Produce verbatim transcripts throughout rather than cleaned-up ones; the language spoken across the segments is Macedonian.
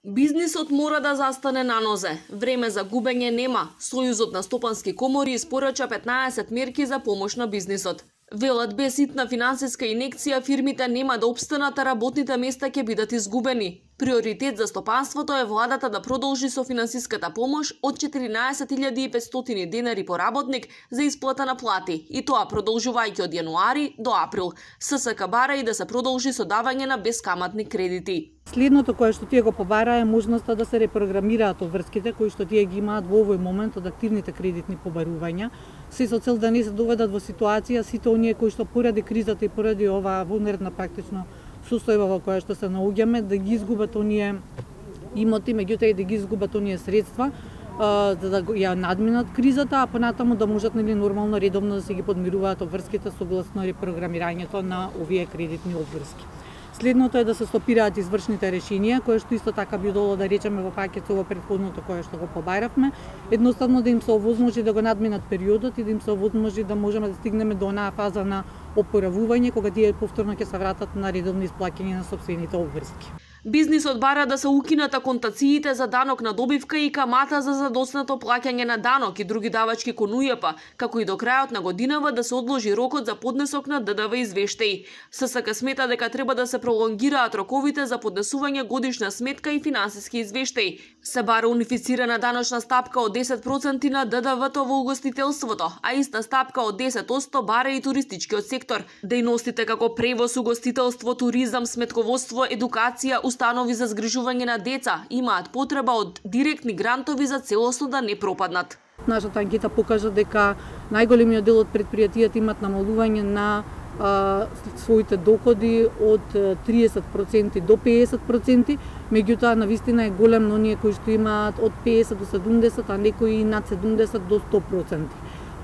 Бизнисот мора да застане на нозе. Време за губење нема. Сојузот на стопански комори испорача петнаесет мерки за помош на бизнисот. Велат, без ситна финансиска инекција фирмите нема да опстанат, а работните места ќе бидат изгубени. Приоритет за стопанството е владата да продолжи со финансиската помош од четиринаесет илјади и петстотини денари по работник за исплата на плати, и тоа продолжувајќи од јануари до април. ССК бара и да се продолжи со давање на бескаматни кредити. Следното кое што тие го побара е можноста да се репрограмираат обврските кои што тие ги имаат во овој момент од активните кредитни побарувања, се со цел да не се доведат во ситуација сите оние кои што поради кризата и поради оваа вонредна практично состојба во која што се наоѓаме, да ги изгубат оние имоти, меѓутоа и да ги изгубат оние средства за да ја надминат кризата, а понатаму да можат нели нормално редовно да се ги подмируваат обврските согласно репрограмирањето на овие кредитни обврски. Следното е да се стопираат извршните решенија, кое што исто така би доло да речеме во пакет со претходното кое што го побаравме, едноставно да им се овозможи да го надминат периодот и да им се овозможи да можеме да стигнеме до онаа фаза на опоравување кога тие повторно ќе се вратат на редовно исплаќање на сопствените обврски. Бизнисот бара да се укинат аконтациите за данок на добивка и камата за задоснато плаќање на данок и други давачки кон У Ј П, како и до крајот на годинава да се одложи рокот за поднесок на Д Д В извештаи. ССК смета дека треба да се пролонгираат роковите за поднесување годишна сметка и финансиски извештаи. Се бара унифицирана даночна стапка од десет проценти на Д Д В-то во угостителството, а иста стапка од десет проценти бара и туристичкиот сектор. Дејностите како превоз, угостителство, туризам, сметководство, едукација, установи за згрижување на деца имаат потреба од директни грантови за целосно да не пропаднат. Нашата анкета покажа дека најголемиот дел од предпријатијата имат намалување на а, своите доходи од триесет проценти до пеесет проценти, меѓутоа навистина е голем на оние кои што имаат од пеесет до седумдесет, а некои над седумдесет до сто проценти.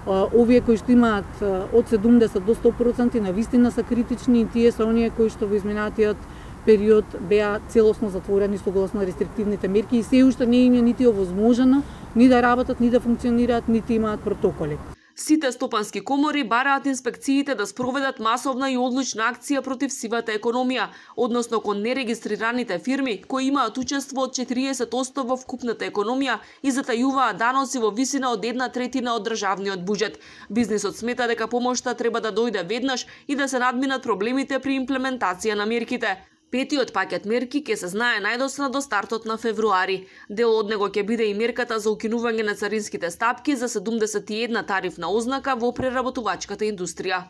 Овие кои што имаат од седумдесет до сто проценти навистина се критични и тие се оние кои што во изминатиот период беа целосно затворени согласно рестриктивните мерки и се уште не им е нити овозможено ни да работат, ни да функционираат, нити имаат протоколи. Сите стопански комори бараат инспекциите да спроведат масовна и одлучна акција против сивата економија, односно кон нерегистрираните фирми кои имаат учество од четириесет проценти во вкупната економија и затајуваат даноци во висина од една третина од државниот буџет. Бизнисот смета дека помошта треба да дојде веднаш и да се надминат проблемите при имплементација на мерките. Петиот пакет мерки ќе се знае најдосна до стартот на февруари. Дел од него ќе биде и мерката за укинување на царинските стапки за седумдесет и една тарифна ознака во преработувачката индустрија.